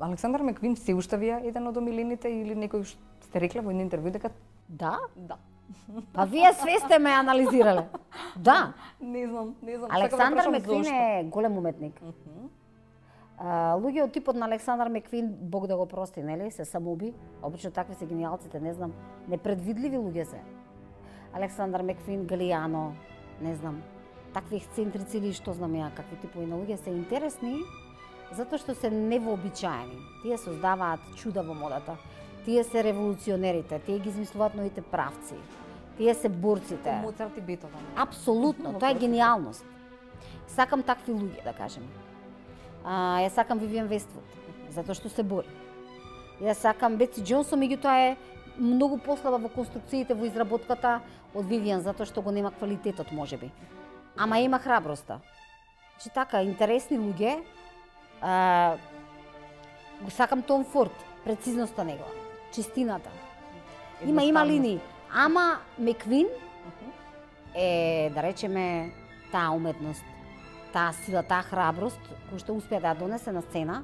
Александар Меквин се уште ви е еден од омилените или некој сте рекле во едно интервју дека Да? да. Па вие све сте ме анализирале. Да. Не знам. Александар Меквин е голем уметник. Луѓе од типот на Александар Меквин, Бог да го прости, нели, се самоуби. Обично такви се гениалците, не знам, непредвидливи луѓе се. Александар Меквин, Галиано, не знам, такви ексцентрици или што знам ја, какви типови на луѓе се интересни, затоа што се невообичаени. Тие создаваат чуда во модата. Тие се револуционерите, тие ги измислуваат новите правци. Тие се борците. Моцарт и Бетовен. Апсолутно, тоа е гениалност. Сакам такви луѓе, да кажем. Ја сакам Вивиан Вествуд, затоа што се бори. Ја сакам Бетси Џонсон, меѓутоа е многу послаба во конструкциите, во изработката од Вивиан, затоа што го нема квалитетот, можеби. Ама има храброста. Значи така, интересни луѓе. Го сакам Том Форд, прецизноста негова, чистината. Има линии. Ама Меквин е, да речеме, таа уметност, таа сила, таа храброст, која што успеа да ја донесе на сцена,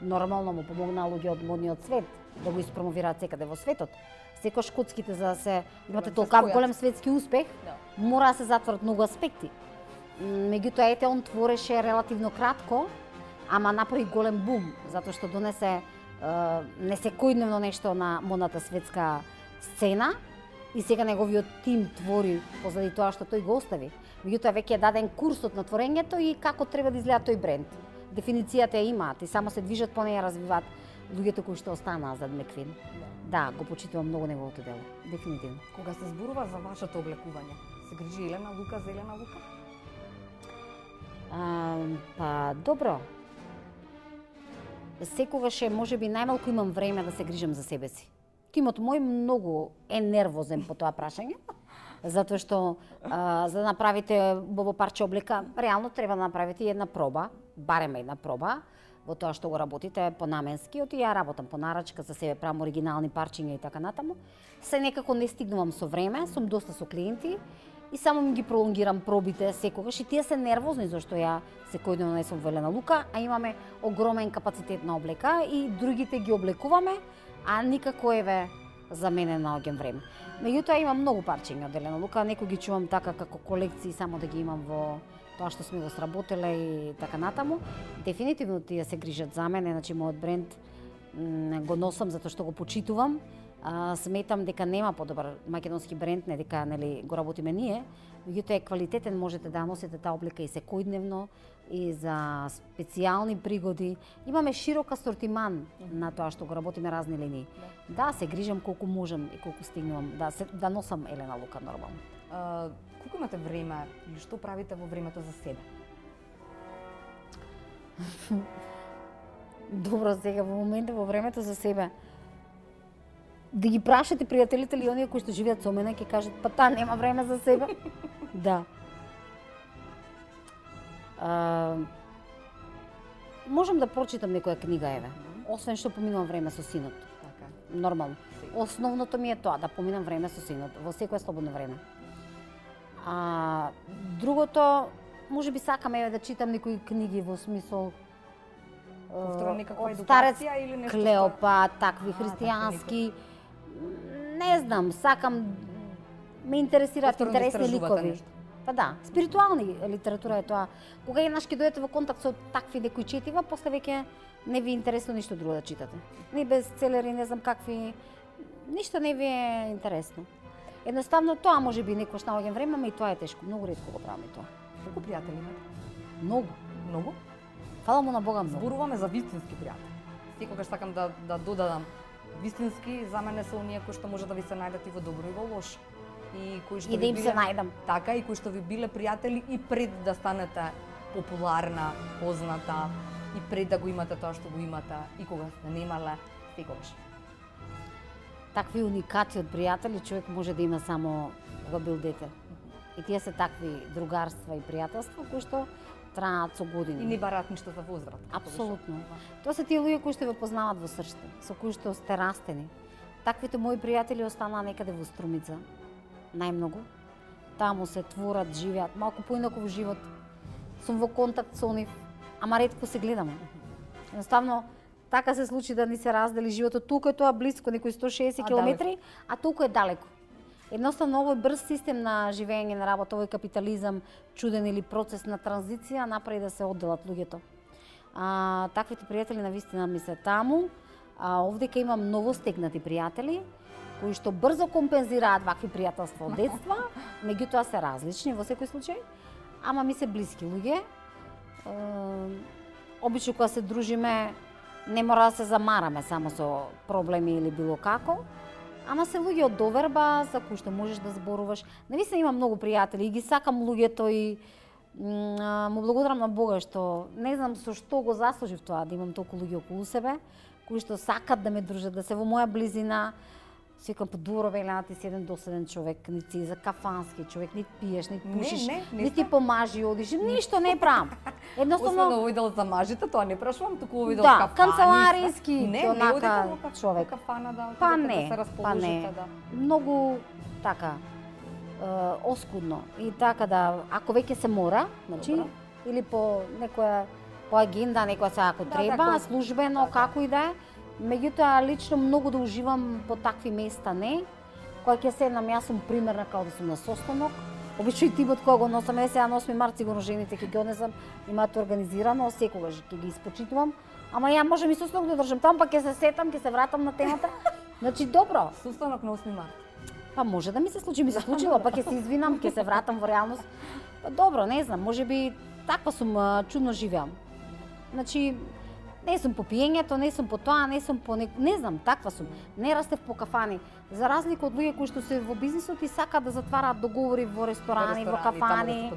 нормално му помогнаа луѓе од модниот свет да го испромовираат секаде во светот. Секој шкотските, за да се имате толкав голем светски успех, мора да се затворат многу аспекти. Меѓутоа, ете, он твореше релативно кратко, ама направи голем бум, затоа што донесе несекојдневно нешто на модната светска сцена и сега неговиот тим твори позади тоа што тој го остави. Меѓутоа, веќе е даден курсот на творењето и како треба да изгледа тој бренд. Дефиницијата ја имаат и само се движат по неја, развиваат луѓето кои што останаа зад Меквин. Да, го почитувам многу неговото дело, дефинитивно. Кога се зборува за вашето облекување, се грижи Елена Лука за Елена Лука? Па, добро. Секогаш е, можеби, најмалку имам време да се грижам за себе си. Тимот мој многу е нервозен по тоа прашање, затоа што за да направите убаво парче облека, реално треба да направите една проба, барем една проба, во тоа што го работите понаменски, оти ја работам по нарачка за себе, правам оригинални парчиња и така натаму. Се некако не стигнувам со време, сум доста со клиенти и само ми ги пролонгирам пробите секогаш и тие се нервозни зашто ја секојдневно не сум во Елена Лука, а имаме огромен капацитет на облека и другите ги облекуваме, а никако еве за мене наоѓам време. Меѓутоа имам многу парчиња од Елена Лука, некои ги чувам така како колекции само да ги имам во тоа што сме го сработеле и така натаму. Дефинитивно тие се грижат за мене, значи мојот бренд го носам затоа што го почитувам. Сметам дека нема подобар македонски бренд, не дека нели го работиме ние, меѓутоа е квалитетен, можете да носите таа облека и секојдневно и за специјални пригоди. Имаме широк асортиман на тоа што го работиме, разни линии. Да, се грижам колку можам и колку стигнувам да носам Елена Лука нормално. Колку имате време или што правите во времето за себе? Добро, сега во моментот во времето за себе. Да ги прашате пријателите или оние кои што живеат со мене, ќе кажат, па таа нема време за себе. Да. Можам да прочитам некоја книга, еве. Освен што поминувам време со синот. Така. Нормално. Основното ми е тоа, да поминам време со синот, во секое слободно време. Другото, можеби сакам еве да читам некои книги во смисол Повторно некаква од старец едукација или нешто? Клеопа, такви христијански. Не знам, сакам, ме интересираат Повторно да интересни истражувате ликови. нешто. Па да, спиритуални литература е тоа. Кога еднаш ќе дојдете во контакт со такви некои четива, после веќе не ви е интересно ништо друго да читате. Не бестселери, не знам какви, ништо не ви е интересно. Едноставно тоа можеби некош наоѓам време, ама и тоа е тешко, многу ретко го правам и тоа. Колку пријатели имате? Многу. Многу? Фала му на Бога многу. Зборуваме за вистински пријатели. Секогаш сакам да додадам вистински, за мене се оние кои што може да ви се најдат и во добро и во лошо. И кои што И да им се најдам. Така, и кои што ви биле пријатели и пред да станете популарна, позната, и пред да го имате тоа што го имате, и кога сте немале, секогаш. Такви уникати од пријатели човек може да има само кога бил дете. И тие се такви другарства и пријателства кои што траат со години. И не бараат ништо за возврат. Апсолутно. Тоа се тие луѓе кои што ве познаваат во срцето, со кои што сте растени. Таквите мои пријатели останаа некаде во Струмица. Најмногу. Таму се творат, живеат, малку поинаков живот. Сум во контакт со нив, ама ретко се гледаме. Едноставно, така се случи да ни се раздели животот. Толку е тоа близко, некои 160 километри, а толку е далеко. Едноставно овој брз систем на живење, на работа, овој капитализам, чуден или процес на транзиција направи да се одделат луѓето. Таквите пријатели навистина ми се таму. Овдека имам новостегнати пријатели кои што брзо компензираат вакви пријателства од детства, меѓутоа се различни во секој случај, ама ми се блиски луѓе. Обично кога се дружиме не мора да се замараме само со проблеми или било како, ама се луѓе од доверба за кои што можеш да зборуваш. Навистина имам многу пријатели и ги сакам луѓето и му благодарам на Бога што не знам со што го заслужив тоа да имам толку луѓе околу себе кои што сакат да ме дружат, да се во моја близина. Секам по добро велеа ти си еден доседен човек, нити си за кафански човек, нити пиеш, нити пушиш, нити помажи одиш, ништо не правам. Едноставно освен овој дел за мажите, тоа не прашувам, туку овој дел да, кафани. Канцелариски, онака човек. Кафана да па да не, се расположите, да. Многу така оскудно и така да ако веќе се мора, значи или по некоја по агенда, некоја се ако треба, службено, како и да е. Меѓутоа, лично многу да уживам по такви места, не. Кога ќе седнам, јас сум примерна као да сум на состанок. Обично и тимот кога го носам, сега на 8 март сигурно жените ќе ги однесам, имаат организирано, секогаш ќе ги испочитувам. Ама ја можам и состанок да држам таму, па ќе се сетам, ќе се вратам на темата. Значи, добро. Состанок на 8 март. Па може да ми се случи, случило, па ќе се извинам, ќе се вратам во реалност. Па добро, не знам, можеби таква сум, чудно живеам. Значи, не сум по пиењето, не сум по тоа, не сум по не знам, таква сум. Не растев по кафани. За разлика од луѓе кои што се во бизнисот и сакаат да затвараат договори во ресторани, во кафани.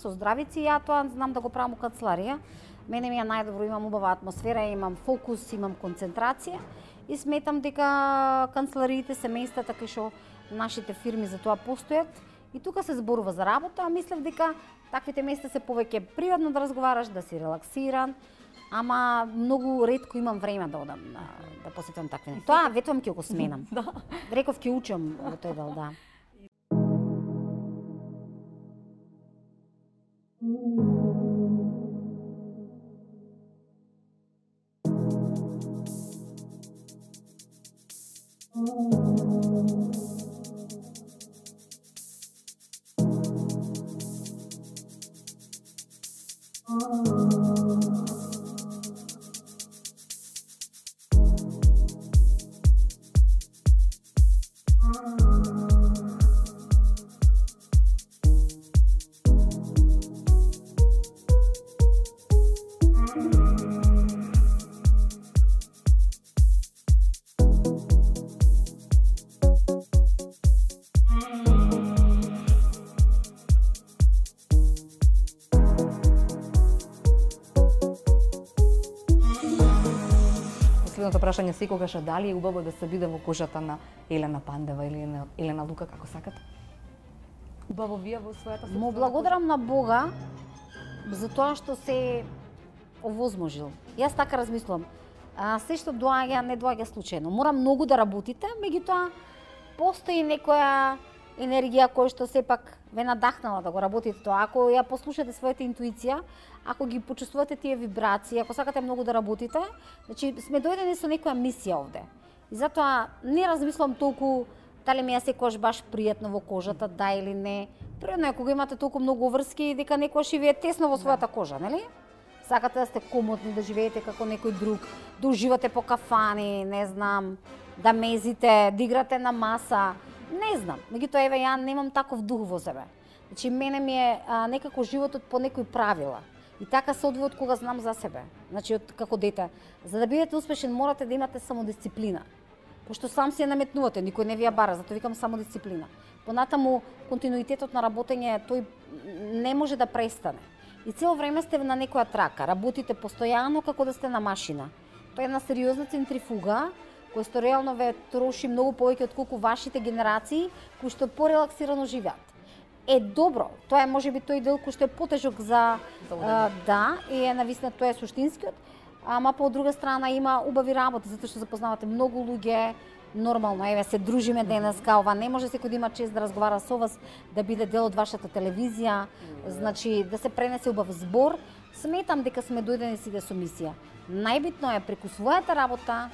Со здравици, ја тоа знам да го правам во канцеларија. Мене ми е најдобро, имам убава атмосфера, имам фокус, имам концентрација и сметам дека канцелариите се местата кај што нашите фирми за тоа постојат. И тука се зборува за работа, а мислев дека таквите места се повеќе приватно да разговараш, да си релаксиран, ама многу ретко имам време да одам да посетам такви. Тоа ветувам ќе го сменам. Реков ќе учам во тој дел, да. Последното прашање секогаш е дали е убаво да се биде во кожата на Елена Пандева или на Елена Лука, како сакате? Убаво вие во својата собствена. Му благодарам на Бога за тоа што се овозможил. Јас така размислувам. Се што доаѓа, не доаѓа случајно. Мора многу да работите, меѓутоа постои некоја енергија која што сепак ве надахнала да го работите тоа. Ако ја послушате својата интуиција, ако ги почувствувате тие вибрации, ако сакате многу да работите, значи сме дојдени со некоја мисија овде. И затоа не размислувам толку дали ми е секогаш баш пријатно во кожата, да или не. Пријатно е кога имате толку многу врски дека некојаш живее тесно во својата кожа, нели? Сакате да сте комотни, да живеете како некој друг, да уживате по кафани, не знам, да мезите, да играте на маса. Не знам, меѓутоа еве ја немам таков дух во себе. Значи мене ми е некако животот по некои правила. И така се одвои од кога знам за себе. Значи од како дете, за да бидете успешен морате да имате самодисциплина. Пошто сам си ја наметнувате, никој не ви ја бара, затоа викам самодисциплина. Понатаму континуитетот на работење тој не може да престане. И цело време сте на некоја трака, работите постојано како да сте на машина. Тоа е една сериозна центрифуга кој што реално ве троши многу повеќе отколку вашите генерации кои што порелаксирано живеат. Е добро, тоа е можеби тој дел кој што е потежок за да, и е навистина тоа е суштинскиот, ама по друга страна има убави работи затоа што запознавате многу луѓе, нормално, еве се дружиме денеска, ова не може секој да има чест да разговара со вас, да биде дел од вашата телевизија, значи да се пренесе убав збор. Сметам дека сме дојдени сите со мисија. Најбитно е преку својата работа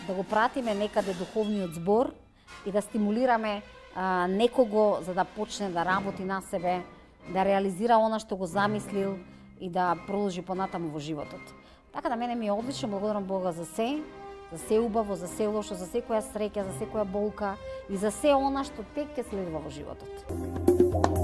да го пратиме некаде духовниот збор и да стимулираме некого за да почне да работи на себе, да реализира она што го замислил и да продолжи понатаму во животот. Така да мене ми е одлично, благодарам Бога за се убаво, за се лошо, за секоја среќа, за секоја болка и за се она што тек ќе следува во животот.